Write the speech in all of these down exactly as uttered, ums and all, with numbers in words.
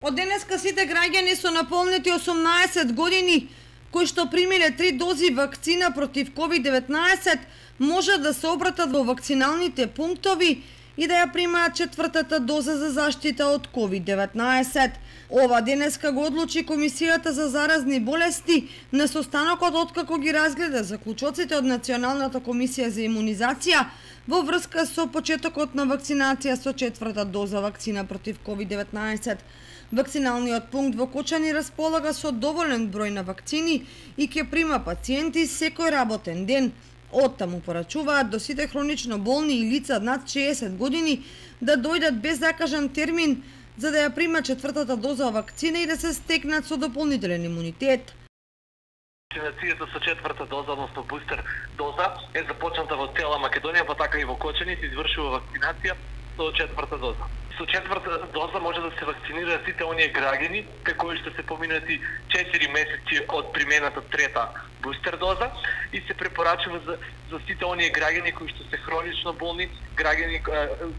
Од денеска сите граѓани со наполнети осумнаесет години кои што примиле три дози вакцина против ковид деветнаесет може да се обратат во вакциналните пунктови и да ја примаат четвртата доза за заштита од ковид деветнаесет. Ова денеска го одлучи Комисијата за заразни болести на состанокот откако ги разгледа заклучоците од Националната комисија за имунизација во врска со почетокот на вакцинација со четврта доза вакцина против ковид деветнаесет. Вакциналниот пункт во Кочани располага со доволен број на вакцини и ќе прима пациенти секој работен ден. Оттаму порачуваат до сите хронично болни и лица над шеесет години да дојдат без закажан термин за да ја примат четвртата доза вакцина и да се стекнат со дополнителен имунитет. Вакцинацијата со четврта доза, односно бустер доза, е започната во цела Македонија, па така и во Кочани се извршува вакцинација со четврта доза. Со четврта доза може да се вакцинираат сите оние граѓани кај кои што се поминати четири месеци од примената трета бустер доза и се препорачува за, за сите оние граѓани кои што се хронично болни, граѓани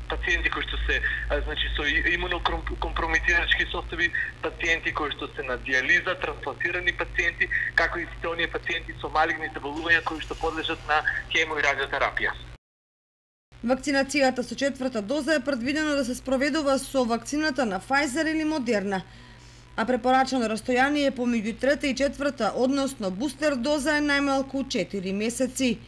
пациенти кои што се значи со имунокомпрометирачки состојби, пациенти кои што се на диализа, трансплантирани пациенти, како и сите оние пациенти со малигни заболувања кои што подлежат на хемо и радиотерапија. Вакцинацијата со четврта доза е предвидено да се спроведува со вакцината на Pfizer или Moderna, а препорачано растојание помеѓу трета и четврта, односно бустер доза е најмалку четири месеци.